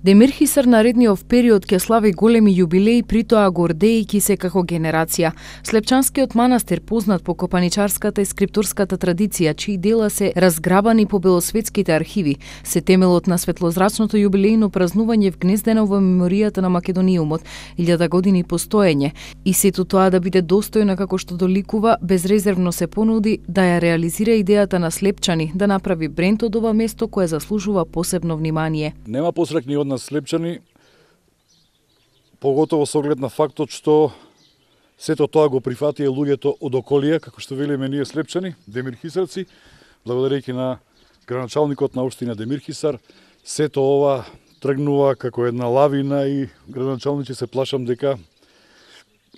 Демир Хисар наредниот период ќе слави големи јубилеи, притоа гордејќи се како генерација. Слепчанскиот манастир, познат по копаничарската и скриптурската традиција, чии дела се разграбани по белосветските архиви, се темелот на светлозрачното јубилејно празнување вгнездено во меморијата на Македониумот, 1000 години постоење, и сето тоа да биде достојно како што доликува, безрезервно се понуди да ја реализира идејата на Слепчани, да направи бренд од ова место кое заслужува посебно внимание. Нема посрекни од нас Слепчани, поготово со оглед на фактот што сето тоа го прифатија луѓето од околија, како што велиме ние Слепчани, Демир Хисарци, благодарејќи на градоначалникот на општина Демир Хисар, сето ова тргнува како една лавина и градоначалниче се плашам дека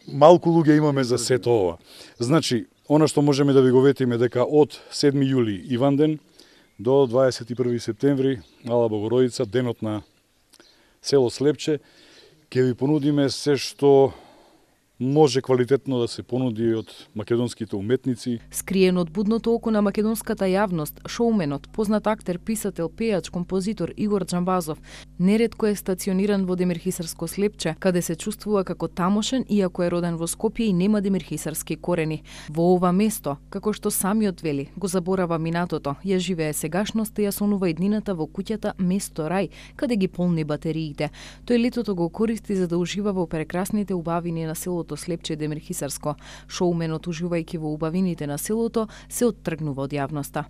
малку луѓе имаме за сето ова. Значи, она што можеме да ви го ветиме дека од 7 јули Иванден до 21 септември Мала Богородица, денот на село Слепче, ќе ви понудиме се што може квалитетно да се понуди од македонските уметници. Скриен од будното око на македонската јавност, шоуменот, познат актер, писател, пејач, композитор Игор Џамбазов неретко е стациониран во Демирхисарско Слепче, каде се чувствува како тамошен, иако е роден во Скопје и нема демирхисарски корени. Во ова место, како што самиот вели, го заборава минатото, ја живее сегашноста и ја сонува иднината во куќата место рај, каде ги полни батериите. Тој летото го користи за да ужива во прекрасните убавини на селото Слепче Демирхисарско. Шоуменот, уживајќи во убавините на селото, се оттргнува од јавноста.